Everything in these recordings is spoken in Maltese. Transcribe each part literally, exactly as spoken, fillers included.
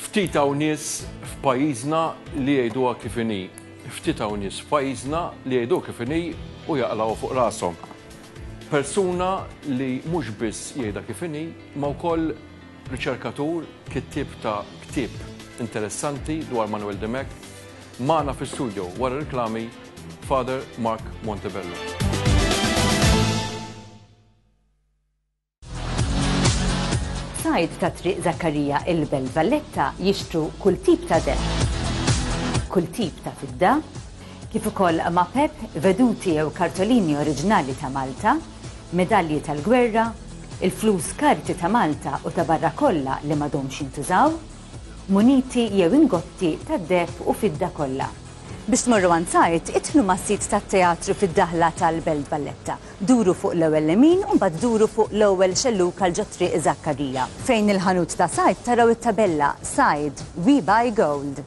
Ftit hawn nies f'pajjiżna li jgħiduha kif inhi. Ftit hawn nies f'pajjiżna li jgħiduha kif inhi u jaqlgħu fuq rashom. Persuna li mhux biss jgħidha kif inhi, ma wkoll riċerkatur, kittieb ta' ktieb interessanti dwar Manuel Dimech, magħna fi-studio wara reklami Father Mark Montebello. Sajd ta' Triq Zakkarija il-Belt Valletta jixtru kull tip ta' deheb, kull tip ta' fidda, kif ukoll mapep, veduti jew kartolini oriġinali ta' Malta, medalji tal-gwerra, il-flus karti ta' Malta u ta' barra kollha li m'għadhomx jintużaw, muniti jew ingotti ta' deheb u fidda kollha. Biex tmorru għand Sajd, idħlu mas-sit tat-teatru fid-daħla tal-Belt Valletta. Duru fuq l-ewwel lemin u mbagħad duru fuq l-ewwel xellug għal ġo Triq Zakkarija. Fejn il-ħanut ta' Sajd taraw it-tabella Sajd, We Buy Gold.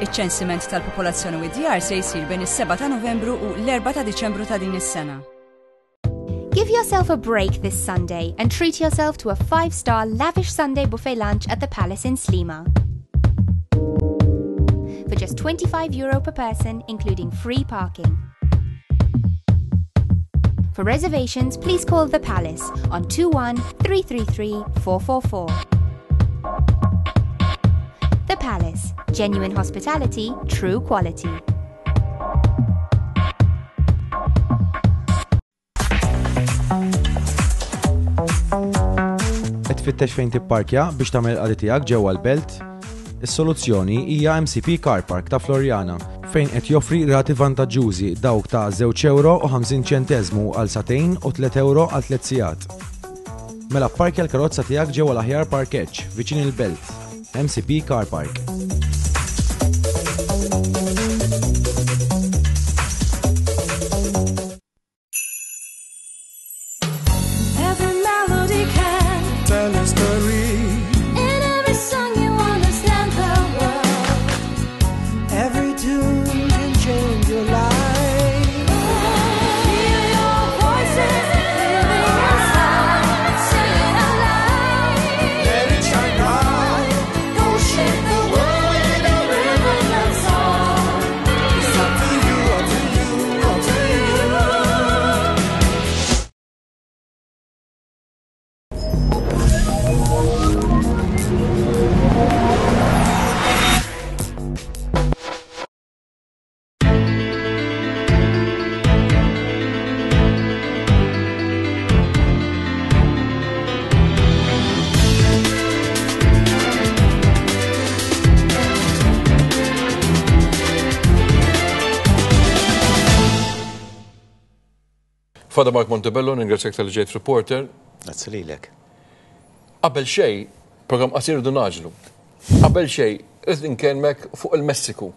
Iċ-ċensiment tal-popolazzjoni u d-djar se jsir bejn is-seba ta' Novembru u l-erbgħa ta' Diċembru ta' din is-sena. Give yourself a break this Sunday and treat yourself to a five-star lavish Sunday buffet lunch at the Palace in Sliema. For just twenty-five euro per person, including free parking. For reservations, please call the Palace on two one three three three four four four. The Palace. Genuine hospitality, true quality. Qed tfittex fejn tipparkja biex tagħmel il-qadi tiegħek ġewwa l-belt? Is-soluzzjoni hija M C P Car Park ta' Floriana fejn qed joffri rati vantaġġużi, dawk ta' żewġ euro u ħamsin ċenteżmu għal sagħtejn u tliet euro għal tliet sigħat. Mela pparkja l-karozza tiegħek ġewwa l-aħjar parkeġġ viċin il-belt. M C P Car Park. Every melody can tell a story. In every song you understand the world. Every tune can change your life. Hear your voices living inside. Sing it aloud. Let it shine bright. Go shake the world with a rhythm and song. It's up to you, up to you, up to you. Father Mark Montebello, ningrazzjak talli ġejt Reporter. Grazzi lilek. Qabel xej, program qasir du naġlu. Qabel xej, irrid inkellmek fuq il-Messiku.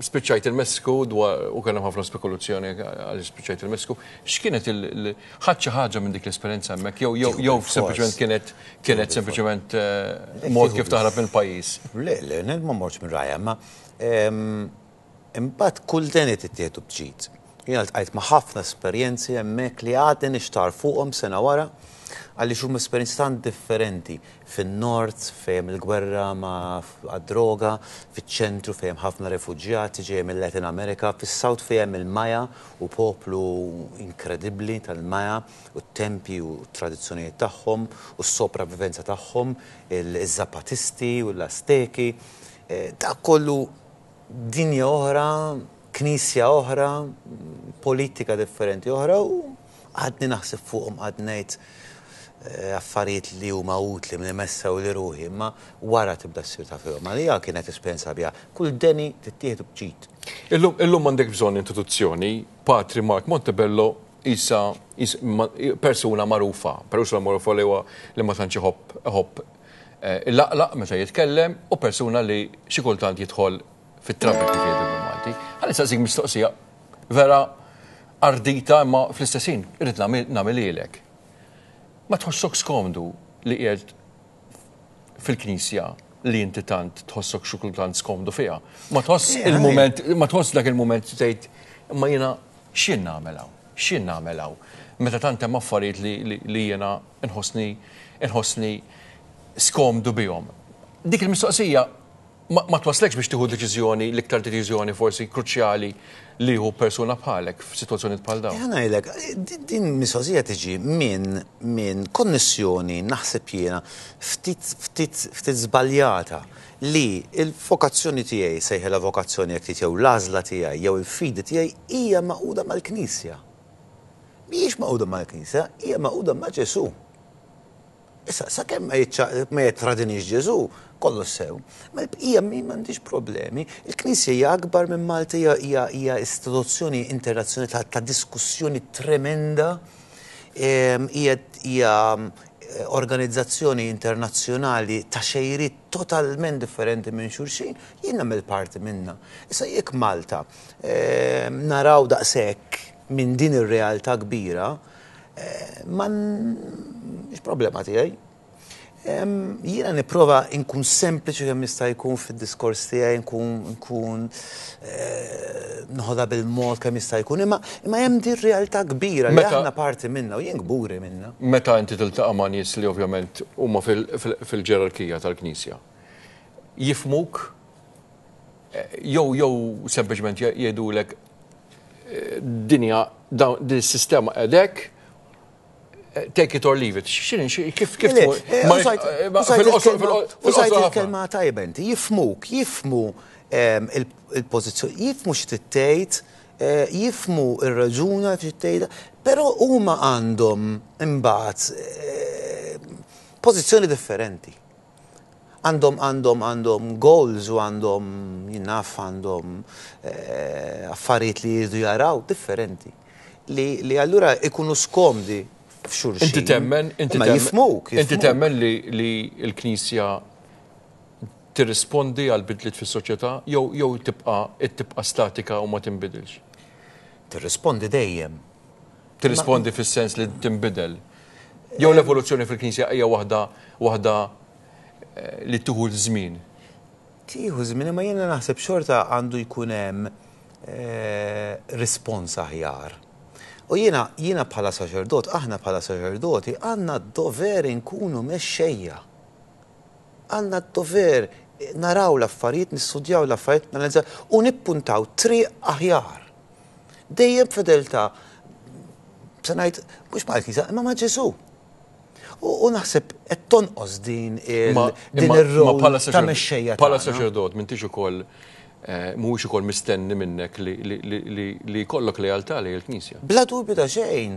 Spiċċajt il-Messiku dwar u kellem ħafna spekulazzjoni għal spiċċajt il-Messiku. X'kienet il ħadd xi ħaġa minn dik l-esperjenza hemmhekk jew jew jew sempliċement kienet kienet sempliċement eh, mod kif taħrab mill-pajjiż? Le, le, ne, ma mortx minn rajja, ma em, imbagħad kull deni tittieħdu b'ġid. Jiena ltqajt ma' ħafna esperjenzi hemmhekk li għadni nixtar fuqhom sena wara, għaliex huma esperjenzi tant differenti. Fin-nord fejn il-gwerra ma' għad-droga, fiċ-ċentru fejn ħafna refuġjati ġej mill-Latin America, fis-South fejn il-Maja u poplu inkredibbli tal-Maja u t-tempi u t-tradizzjonijiet tagħhom u s-sopravivenza tagħhom, il-Zapatisti u l-Azteki. Eh, Dak kollu dinja oħra, knisja oħra, politika differenti oħra u għadni naħseb fuqhom, għadni ngħid eh, affarijiet li huma utli minn messa u li ruħi, imma wara tibda ssir ta' fihom. Għalija kienet esperjenza biha. Kull deni tittieħdu b'ġid. Illum illum m'għandek bżonn introduzzjoni, Patri Mark Montebello isa, isa ma, persuna magħrufa, persuna magħrufa li huwa li ma tantx iħobb iħobb eh, il-laqlaq meta jitkellem u persuna li xi kultant jidħol fit-trouble, kif jgħidu bil-Malti. Ħalli saqsik mistoqsija vera ardita, imma fl-istess ħin irrid nagħmel lilek. Ma tħossok skomdu li qiegħed fil-knisja li inti tant tħossok xi kultant skomdu fiha. Ma tħoss il-mument, ma tħoss dak il-mument tgħid imma jiena x'jien nagħmel hawn? X'jien nagħmel hawn? Meta tant hemm affarijiet li jiena nħossni nħossni skomdu bihom. Dik il-mistoqsija ma twasslekx biex tieħu deċiżjoni, l-iktar deċiżjoni forsi kruċjali li hu persuna bħalek f'sitwazzjoni bħal dawn. Ħa ngħidlek, din mistoqsija tiġi minn min konnessjoni, naħseb jiena, ftit ftit ftit żbaljata li il-vokazzjoni tiegħi, sejħilha vokazzjoni jekk trid, jew l-għażla tiegħi jew il-fidi tiegħi hija magħquda mal-Knisja. Mhijiex magħquda mal-Knisja, hija magħquda ma' Ġesù. Issa, sakemm ma jittradinix Ġesù, kollox sew. Ma l-bqija mi m'għandix problemi. Il-Knisja hija akbar minn Malta, hija hija istituzzjoni internazzjonali ta', ta diskussjoni tremenda, hija hija organizzazzjoni internazzjonali ta' xejriet totalment differenti minn xulxin, jien nagħmel parti minna. Issa jekk Malta naraw daqshekk minn din ir-realtà kbira, ma mhix problema tiegħi. Jiena nipprova nkun sempliċi kemm jista' jkun fid-diskors tiegħi, nkun nkun noħodha bil-mod kemm jista' jkun, imma imma hemm din realtà kbira li aħna parti minnha u jien kburi minnha. Meta inti tiltaqa' ma' nies li ovvjament huma fil-ġerarkija tal-Knisja, jifhmuk jew jew sempliċement jgħidulek dinja din is-sistema qegħdek, take it or leave it. X'inhi kif kif Użajt il-kelma tajba inti, jifhmuk, jifhmu il-pożizzjoni, jifhmu xi tgħid, jifhmu ir-raġuna xi tgħidha, però huma għandhom imbagħad pożizzjoni differenti. Għandhom għandhom għandhom goals u għandhom, jien naf, għandhom affarijiet li jridu jaraw differenti. Li, li allura ikunu skomdi f'xulxin. Inti temmen, inti Ma temmen, jifhmuk, inti jifhmuk. temmen li, li l-Knisja tirrispondi għal bidliet fis-soċjetà jew jew tibqa' tibqa' statika u ma tinbidilx? Tirrispondi dejjem. Tirrispondi fis-sens li tinbidel. Jew l-evoluzzjoni fil-Knisja hija waħda waħda eh, li tieħu żmien. Tieħu żmien, imma jiena naħseb xorta għandu jkun hemm eh, rispons aħjar. U jiena jiena bħala saċerdot, aħna bħala saċerdoti għandna d-dover inkunu mexxejja. Għandna d-dover naraw l-affarijiet, nistudjaw l-affarijiet, nanalizzaw u nippuntaw triq aħjar. Dejjem fedeltà, se ngħid, mhux mal-Knisja, imma ma' Ġesù. U, u naħseb qed tonqos din il Ma- din imma- ir-rol ma bħala ta' saċerdot- mexxejja Bħala tagħna. saċerdot m'intix ukoll eh, mhuwiex ukoll mistenni minnek li li li li, li jkollok lealtà lejn il-Knisja. Bla dubju ta' xejn.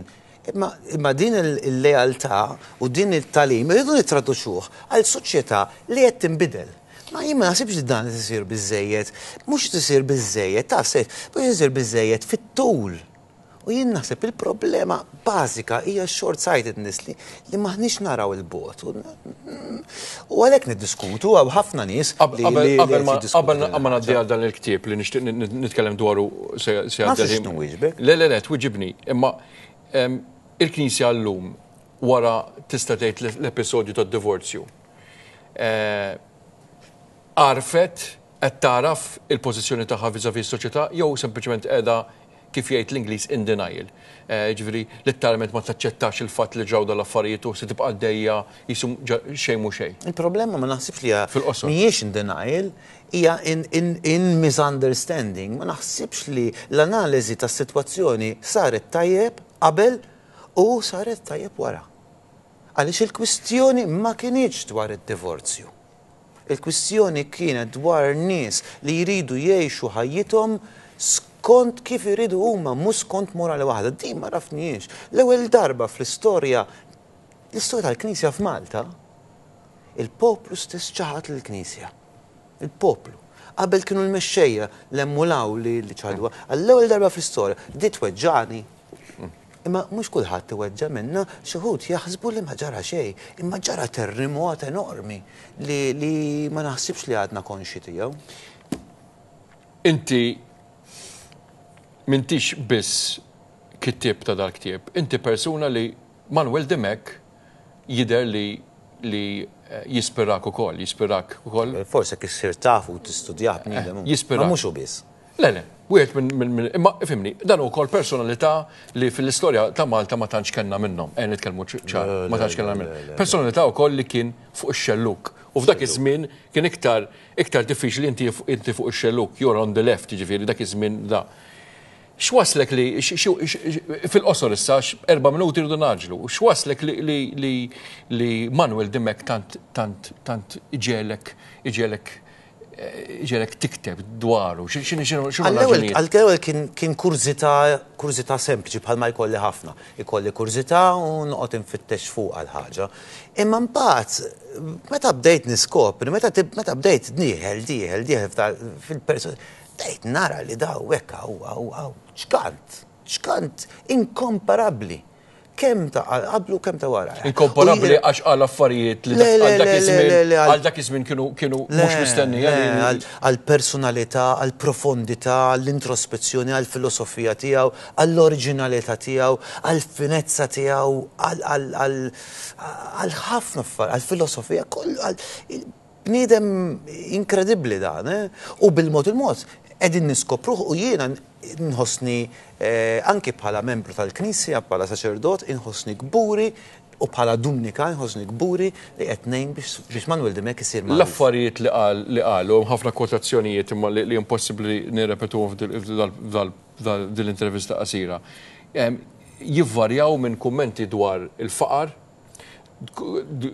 Imma, imma din il-lealtà u din it-tagħlim irridu nittraduċuh għal soċjetà li qed tinbidel. Ma jien ma naħsibx li dan isir biżejjed, mhux tisir biżejjed, ta' se, mhux isir biżejjed fit-tul. U jien naħseb il-problema bażika hija short-sightedness li, li maħniex naraw il-bogħod. U għalhekk niddiskutu hawn ħafna nies li Qabel li- li qabel qed ma jiddiskutu qabel din ma ngħaddi il-ħaġa. għal dan il-ktieb li nixtieq nitkellem dwaru se se Ma għaddi nafx x'nwieġbek. Le, le, le, twiġibni. Imma em, il-Knisja llum wara, tista' tgħid, l-episodju tad-divorzju, eh, Għarfet qed taraf il-pożizzjoni tagħha vis-à-vis s-soċjetà jew sempliċement qiegħda, kif jgħid l-Ingliż, in denial? Eh, Ġifieri letteralment ma taċċettax il-fatt li ġraw dal-affarijiet u se tibqa' għaddejja qisu xejn mhu xejn. Il-problema ma naħsibx li hija Fil-qosor. mhijiex in denial, hija in, in, in misunderstanding. Ma naħsibx li l-analiżi tas-sitwazzjoni saret tajjeb qabel u saret tajjeb wara. Għaliex il-kwistjoni ma kinitx dwar id-divorzju. Il-kwistjoni kienet dwar nies li jridu jgħixu ħajjithom skont kif iridu huma, mhux skont morali waħda. Din ma għarafnihiex. L-ewwel darba fl-istorja l-istorja tal-Knisja f'Malta, il-poplu stess ċaħat l-Knisja. Il-poplu. Qabel kienu l-mexxejja l-emmulaw li li ċaħduha. Għall-ewwel darba fl-istorja, di tweġġani. Imma mhux kulħadd iweġġa minna, xi wħud jaħsbu li ma ġara xejn, imma ġara terremot enormi li, li ma naħsibx li għadna konxi tiegħu. Inti m'intix biss kittieb ta' dal-ktieb, inti persuna li Manuel Dimech jider li li jispirak ukoll, jispirak ukoll. Forse kif issir tafu u tistudjah bniedem. Jispirak. Ma mhux hu biss. Le, le, wieħed minn minn imma ifhimni, dan ukoll personalità li fil-istorja ta' Malta ma tantx kellna minnhom, eh nitkellmu ċar, ma tantx kellna minnhom. Personalità wkoll li kien fuq ix-xelluk. U f'dak iż-żmien kien iktar iktar diffiċli inti inti fuq ix-xelluk, you're on the left, jiġifieri dak iż-żmien da. X'waslek li fil-qosor issa erba' minuti rridu naġlu, x'waslek li li li Manuel Dimech tant tant tant iġelek iġelek ġelek tikteb dwaru, x'inhi x'inhu Għall-ewwel kien kurżità kurżità sempliċi bħalma jkolli ħafna. Ikolli kurżità u noqgħod infittex fuq għal ħaġa. Imma mbagħad meta bdejt niskopri, meta meta bdejt dieħel dieħel dieħel fil-persuna, bdejt nara li daw hekk hawn ċkant, ċkant inkomparabbli. Kemm ta' qablu kemm ta' wara. Inkomparabbli għax għal affarijiet li għal dak iż-żmien kienu kienu mhux mistennija. Għal personalità, għal profondità, għall-introspezzjoni, għall filosofija tiegħu, għall-oriġinalità tiegħu, għall finezza tiegħu, għal ħafna affarijiet, għall filosofija kollu bniedem inkredibbli dan, u bil-mod il-mod qegħdin niskopruh u jiena nħossni anki bħala membru tal-Knisja, bħala saċerdot, inħossni kburi u bħala Dumnika nħossni kburi li qed ngħin biex Manuel Dimech isir magħruf. L-affarijiet li qal li qalu hemm ħafna kwotazzjonijiet imma li impossibbli nirrepetuhom f'din l-intervista qasira. Jivvarjaw minn kummenti dwar il-faqar,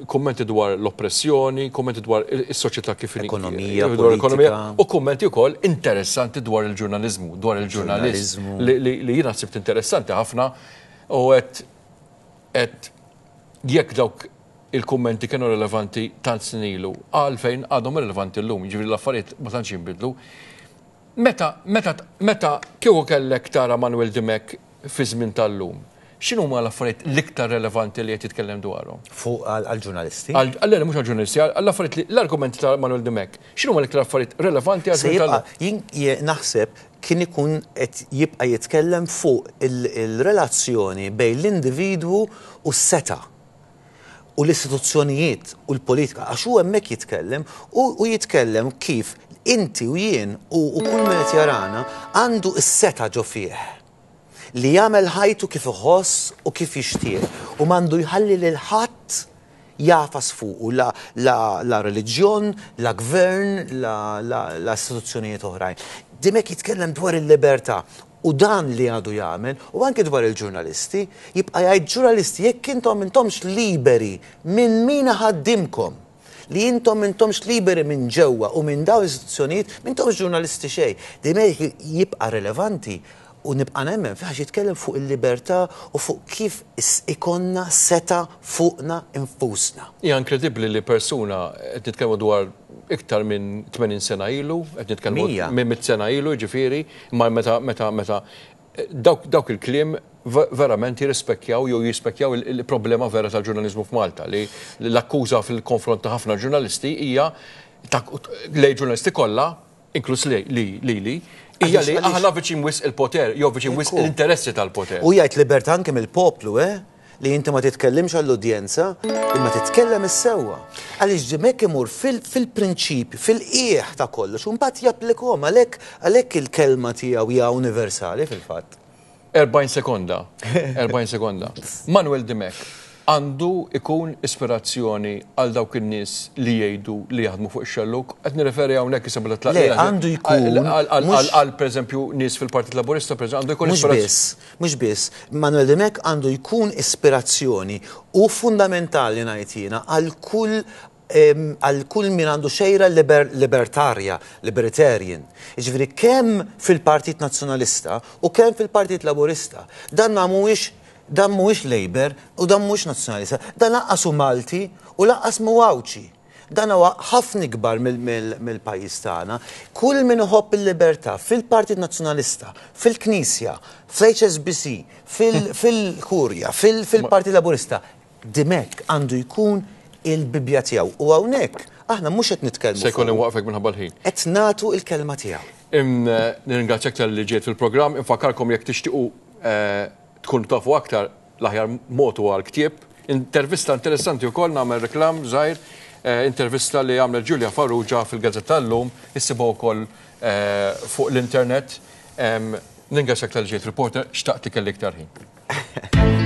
kummenti dwar l-oppressjoni, kummenti dwar is-soċjetà kif ekonomija, politika, u kummenti wkoll interessanti dwar il-ġurnaliżmu, dwar il-ġurnalist li jiena sibt interessanti ħafna u qed qed jekk dawk il-kummenti kienu relevanti tant snin ilu, għalfejn għadhom relevanti llum, jiġifieri l-affarijiet ma tantx jinbidlu. Meta meta meta kieku kellek tara Manuel Dimech fi żmien tal-lum, x'inhuma l-affarijiet l-iktar relevanti li qed jitkellem dwarhom? Fuq għall-ġurnalisti? Għal mhux għall-ġurnalisti, għall-affarijiet li l-argumenti ta' Manuel Dimech. X'inhuma l-iktar affarijiet relevanti għal żmien tal-lum? Jien naħseb kien ikun qed jibqa' jitkellem fuq il-relazzjoni bejn l-individwu u s-seta' u l-istituzzjonijiet u l-politika, għax hu hemmhekk jitkellem u jitkellem kif inti u jien u kull min qed jarana għandu s-seta' ġo fih li jagħmel ħajtu kif iħoss u kif jixtieq u m'għandu jħalli lil ħadd jafas fuqu la la reliġjon, la gvern, la istituzzjonijiet oħrajn. Dimech jitkellem dwar il-libertà u dan li għadu jagħmel u anke dwar il-ġurnalisti, jibqa' jgħid ġurnalisti jekk intom intomx liberi minn min ħaddimkom, li intom intomx liberi minn ġewwa u minn dawn l-istituzzjonijiet, m'intomx ġurnalisti xejn. Dimech jibqa' relevanti u nibqa' nemmen fih għax jitkellem fuq il-libertà u fuq kif ikonna seta' fuqna infusna. Hija inkredibbli li persuna qed nitkellmu dwar iktar minn tmenin sena ilu, qed nitkellmu minn mitt sena ilu, jiġifieri, imma meta meta meta dawk dawk il-kliem verament jirrispekkjaw jew jispekkjaw il-problema vera tal-ġurnaliżmu f'Malta li l-akkuża fil-konfront ta' ħafna ġurnalisti hija lej ġurnalisti kollha, inkluż li li hija li aħna viċin wisq il-poter, jew viċin wisq l-interessi tal-poter. U jgħid libertà anke mill-poplu, eh? Li inti ma titkellimx għall-udjenza, imma titkellem is-sewwa. Għaliex Dimech imur fil-prinċipju, fil-qiegħ ta' kollox, u mbagħad japplikhom għalhekk għalhekk il-kelma tiegħu hija universali fil-fatt. erbgħin sekonda, erbgħin sekonda. Manuel Dimech għandu ikun ispirazzjoni għal dawk in-nies li jgħidu li jaħdmu fuq ix-xelluk. Qed nirreferi hawnhekk issa bla tlaq. Le, għandu jkun għal pereżempju nies fil-Partit Laburista, pereżempju, għandu jkun ispirazzjoni. Mhux biss, mhux biss. Manuel Dimech għandu jkun ispirazzjoni u fundamentali ngħid jiena għal kull għal kull min għandu xejra libertarja, libertarian. Jiġifieri kemm fil-Partit Nazzjonalista u kemm fil-Partit Laburista. Dan mhuwiex dan mhuwiex Labour u dan mhuwiex Nazzjonalista, dan lanqas hu Malti u lanqas mhu Għawdxi. Dan huwa ħafna ikbar mill-pajjiż tagħna. Kull min iħobb il-libertà fil-Partit Nazzjonalista, fil-Knisja, fl-H S B C, fil-Kurja, fil-Partit Laburista, Dimech għandu jkun il-Bibja tiegħu. U hawnhekk aħna mhux qed nitkellmu. Se jkun inwaqfek minħabba l-ħin. Qed nagħtu l-kelma tiegħu. Nirringrazzjak tal-li ġejt fil-programm, infakkarkom jekk tixtiequ tkunu tafu aktar l-aħjar mod huwa l-ktieb. Intervista interessanti wkoll, nagħmel reklam żgħir, eh, intervista li għamlet Julia Farrugia fil-Gazzetta llum, issibuha wkoll eh, fuq l-internet. Nirringrazzjak talli ġejt, reporter, xtaqt li kelli iktar ħin.